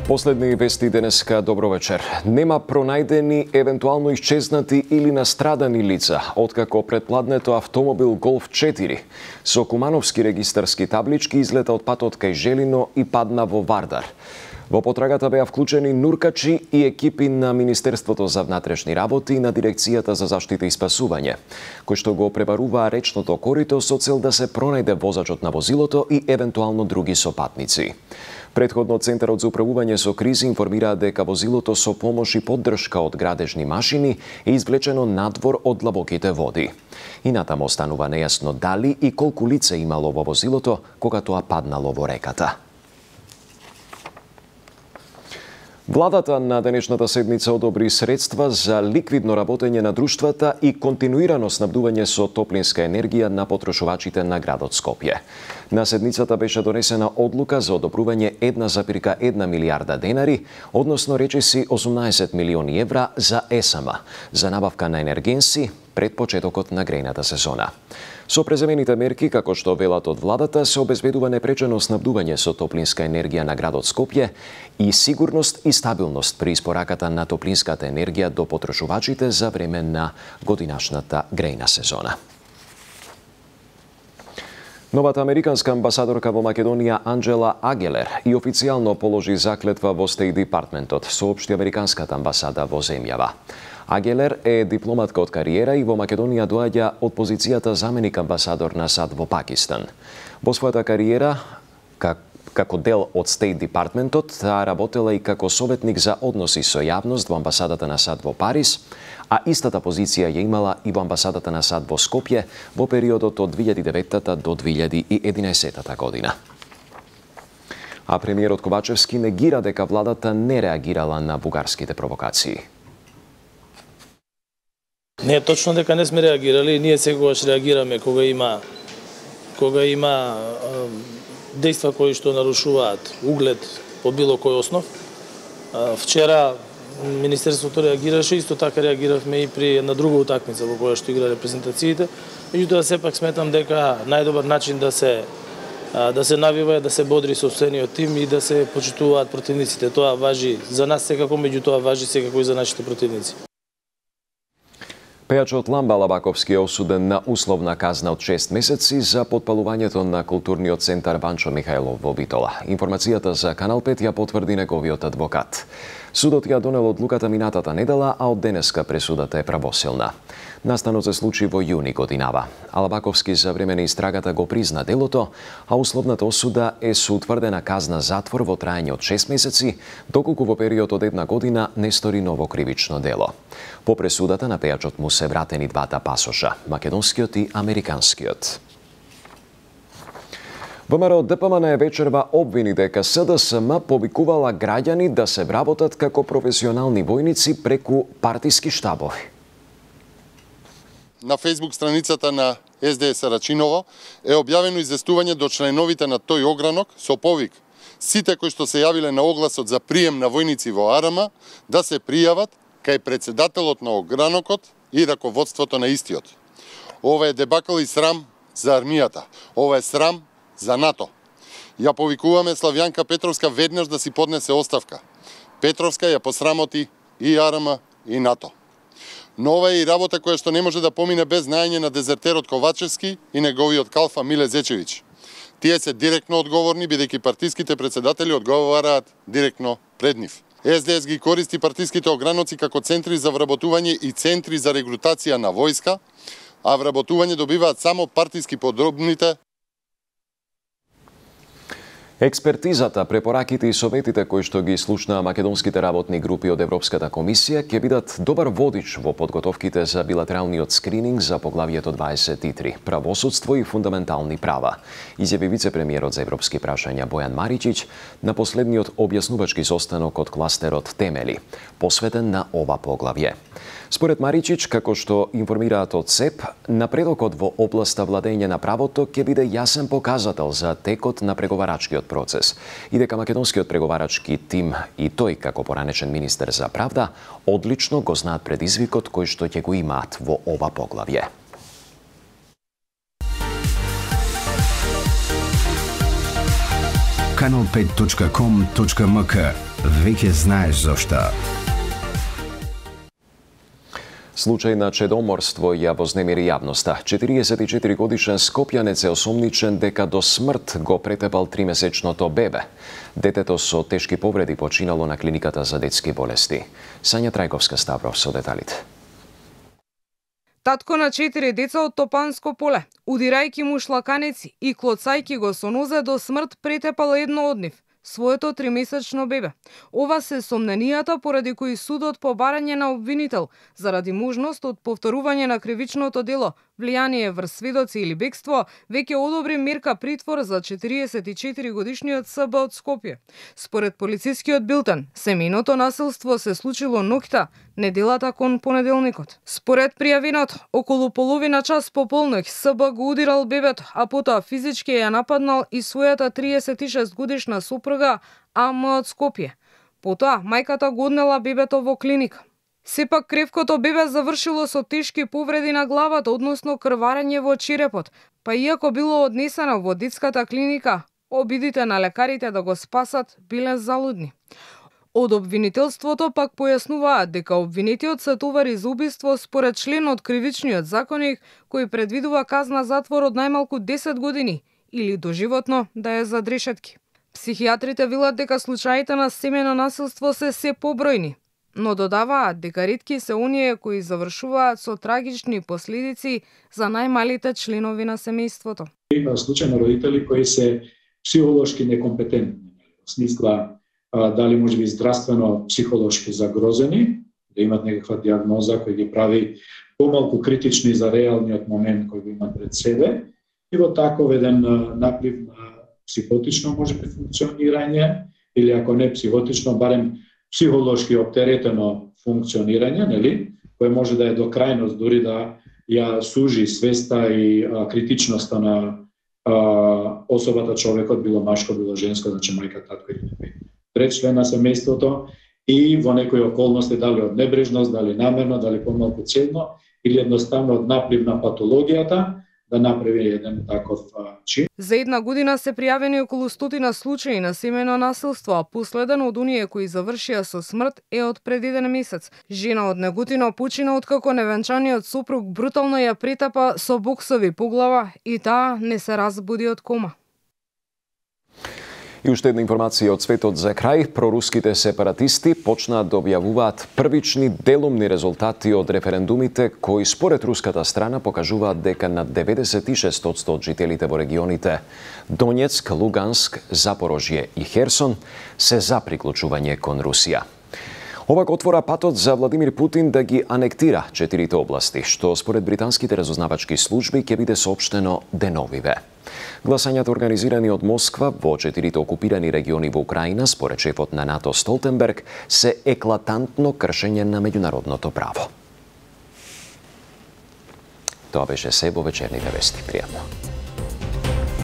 Последни вести денеска, добро вечер. Нема пронајдени, евентуално исчезнати или настрадани лица, откако предпладнето автомобил Голф 4 со кумановски регистарски таблички излета од патот кај Желино и падна во Вардар. Во потрагата беа вклучени нуркачи и екипи на Министерството за внатрешни работи и на Дирекцијата за заштита и спасување, кои што го пребаруваа речното корито со цел да се пронајде возачот на возилото и евентуално други сопатници. Претходно Центарот за управување со кризи информираа дека возилото со помош и поддршка од градежни машини е извлечено надвор од длабоките води. И натаму останува нејасно дали и колку лице имало во возилото кога тоа паднало во реката. Владата на денешната седмица одобри средства за ликвидно работење на друштвата и континуирано снабдување со топлинска енергија на потрошувачите на градот Скопје. На седмицата беше донесена одлука за одобрување 1,1 милијарда денари, односно речиси 18 милиони евра за ЕСМ, за набавка на енергенси пред почетокот на грејната сезона. Со преземените мерки, како што велат од владата, се обезбедува непречено снабдување со топлинска енергија на градот Скопје и сигурност и стабилност при испораката на топлинската енергија до потрошувачите за време на годинашната грејна сезона. Новата американска амбасадорка во Македонија Анджела Агелер и официјално положи заклетва во Стейт Департментот, соопшти американската амбасада во земјава. Агелер е дипломатка од кариера и во Македонија доаѓа од позицијата заменик амбасадор на САД во Пакистан. Во својата кариера, како дел од Стейт Департментот, таа работела и како советник за односи со јавност во амбасадата на САД во Париз, а истата позиција ја имала и во амбасадата на САД во Скопје во периодот од 2009 до 2011 година. А премиерот Ковачевски негира дека владата не реагирала на бугарските провокации. Не е точно дека не сме реагирали, ние секогаш реагираме кога има дејства кои што нарушуваат углед по било кој основ. Вчера Министерството реагираше, исто така реагиравме и при една друга утакмица во која што игра репрезентациите. Меѓутоа сепак сметам дека најдобар начин да се навива е да се бодри сопствениот тим и да се почитуваат противниците. Тоа важи за нас секако, меѓутоа важи секако и за нашите противници. Пејачот Ламба Лабаковски е осуден на условна казна од 6 месеци за потпалувањето на културниот центар Ванчо Михајлов во Битола. Информацијата за Канал 5 ја потврди неговиот адвокат. Судот ја донел одлуката минатата недела, а од денеска пресудата е правосилна. Настанот се случи во јуни годинава. Лабаковски за време на истрагата го призна делото, а условната осуда е со утврдена казна затвор во траење од 6 месеци, доколку во период од 1 година не стори ново кривично дело. По пресудата на пејачот му се вратени двата пасоша, македонскиот и американскиот. ВМРО ДПМН вечерва обвини дека СДСМ повикувала граѓани да се вработат како професионални војници преку партиски штабови. На Facebook страницата на СДС Рачиново е објавено известување до членовите на тој огранок со повик сите кои што се јавиле на огласот за прием на војници во АРМ да се пријават кај председателот на огранокот и раководството на истиот. Ова е дебакл и срам за армијата. Ова е срам за НАТО. Ја повикуваме Славјанка Петровска веднаш да си поднесе оставка. Петровска ја посрамоти и АРМ и НАТО. Но ова е и работа која што не може да помине без знаење на дезертерот Ковачевски и неговиот калфа Миле Зечевиќ. Тие се директно одговорни, бидејќи партиските председатели одговараат директно пред нив. СДС ги користи партиските ограноци како центри за вработување и центри за регрутација на војска, а вработување добиваат само партиски подробните. Експертизата, препораките и советите кои што ги слушнаа македонските работни групи од Европската комисија ќе бидат добар водич во подготовките за билатералниот скрининг за поглавието 23 – правосудство и фундаментални права, изјави вице-премиерот за европски прашања Бојан Маричич на последниот објаснувачки состанок од кластерот Темели, посветен на ова поглавје. Според Маричич, како што информираат од СЕП, напредокот во областа владење на правото ќе биде јасен показател за текот на преговарачкиот процес и дека македонскиот преговарачки тим и тој како поранешен министер за правда одлично го знаат предизвикот кој што ќе го имаат во ова поглавје. kanal5.com.mk. Веќе знаеш зошто. Случај на чедоморство ја вознемири јавноста. 44 годишен скопјанец е осомничен дека до смрт го претепал 3-месечното бебе. Детето со тешки повреди починало на клиниката за детски болести. Сања Трајковска Ставров со деталите. Татко на 4 деца од Топанско поле, удирајќи му шлаканеци и клоцајќи го со нозе до смрт претепал едно од нив, своето 3-месечно бебе. Ова се сомненијата поради кои судот по барање на обвинител заради можност од повторување на кривичното дело, влијание врз сведоци или бегство, веќе одобри мерка притвор за 44 годишниот СБ од Скопје. Според полицискиот билтен, семејното насилство се случило ноќта, неделата кон понеделникот. Според пријавинот, околу половина час по полноќ СБ го удирал бебето, а потоа физички ја нападнал и својата 36 годишна сопруга АМ од Скопје. Потоа мајката го однела бебето во клиника. Сепак кревкото бебе завршило со тешки повреди на главата, односно крварење во черепот, па иако било однесено во детската клиника, обидите на лекарите да го спасат биле залудни. Од обвинителството пак појаснуваат дека обвинетиот се товари за убиство според член од кривичниот законник кој предвидува казна затвор од најмалку 10 години или доживотно да е за решетки. Психијатрите велат дека случаите на семејно насилство се побројни, но додаваат дека ретки се оние кои завршуваат со трагични последици за најмалите членови на семејството. Има случаи на родители кои се психолошки некомпетентни, во смисла дали можеби здравствено психолошки загрозени, да имат некаква дијагноза која ги прави помалку критични за реалниот момент кој го имат пред себе, и во таков еден наплив на психотично можеби функционирање, или ако не психотично, барем психолошки оптеретено функционирање, нели, кое може да е до крајност, дури да ја сужи свеста и критичноста на особата, човекот, било машко, било женско, значи мајка, татко или трет член на семејството, и во некои околности, дали од небрежност, дали намерно, дали помалку целно, или едноставно од наплив на патологијата, да направи еден таков чин. За една година се пријавени околу 100 случаи на семејно насилство, а последен од оние кои завршија со смрт е од пред еден месец. Жена од Неготино почина откако невенчаниот сопруг брутално ја претапа со боксови по глава и таа не се разбуди од кома. И уште една информација од светот за крај. Проруските сепаратисти почнаат да објавуваат првични делумни резултати од референдумите кои според руската страна покажуваат дека над 96% од жителите во регионите Донецк, Луганск, Запорожје и Херсон се за приклучување кон Русија. Ова го отвора патот за Владимир Путин да ги анектира 4 области, што според британските разузнавачки служби ќе биде соопштено деновиве. Гласањата организирани од Москва во 4 окупирани региони во Украина, според шефот на НАТО Столтенберг, се еклатантно кршење на меѓународното право. Тоа беше се во вечерните вести. Пријатно.